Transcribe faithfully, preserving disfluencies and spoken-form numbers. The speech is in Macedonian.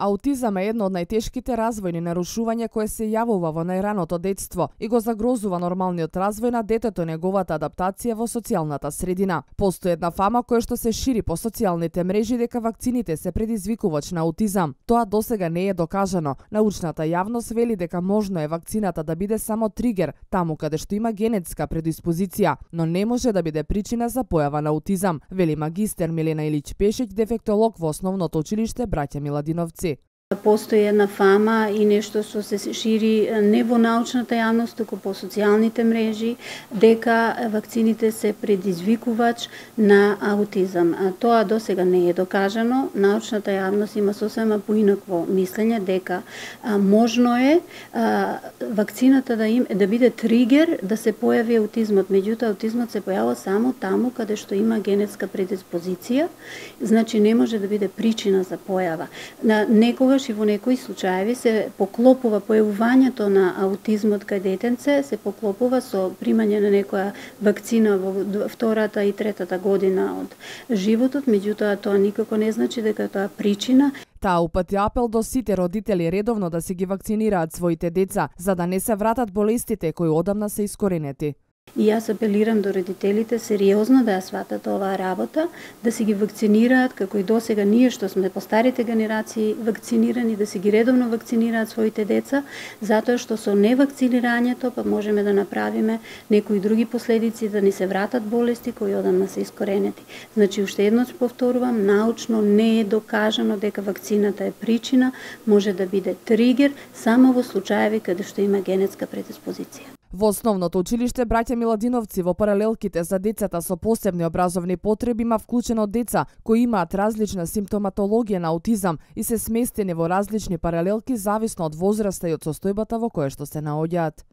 Аутизам е едно од најтешките развојни нарушувања кое се јавува во најраното детство и го загрозува нормалниот развој на детето и неговата адаптација во социјалната средина. Постои една фама која што се шири по социјалните мрежи дека вакцините се предизвикувач на аутизам. Тоа досега не е докажано. Научната јавност вели дека можно е вакцината да биде само тригер таму каде што има генетска предиспозиција, но не може да биде причина за појава на аутизам, вели магистер Милена Илич Пешеќ, дефектолог во Основното училиште Браќа Миладиновци. Постои една фама и нешто што се шири не во научната јавност, туку по социјалните мрежи, дека вакцините се предизвикувач на аутизам. Тоа досега не е докажано. Научната јавност има сосема поинакво мислење дека а, можно е а, вакцината да им да биде тригер да се појави аутизмот. Меѓутоа аутизмот се појавува само таму каде што има генетска предиспозиција, значи не може да биде причина за појава. На некогаш и во некои случаеви се поклопува појавувањето на аутизмот кај детенце, се поклопува со примање на некоја вакцина во втората и третата година од животот, меѓутоа тоа никако не значи дека тоа причина. Таа упати апел до сите родители редовно да се ги вакцинираат своите деца, за да не се вратат болестите кои одамна се искоренети. И јас апелирам до родителите сериозно да ја сватат оваа работа, да се ги вакцинираат, како и досега ние што сме по старите генерации вакцинирани, да се ги редовно вакцинираат своите деца, затоа што со невакцинирањето па можеме да направиме некои други последици, да ни се вратат болести кои одамна се искоренети. Значи, уште еднош повторувам, научно не е докажано дека вакцината е причина, може да биде тригер само во случаеви каде што има генетска предиспозиција. Во Основното училиште Браќа Миладиновци во паралелките за децата со посебни образовни потреби има вклучено деца кои имаат различна симптоматологија на аутизам и се сместени во различни паралелки зависно од возраста и од состојбата во која што се наоѓаат.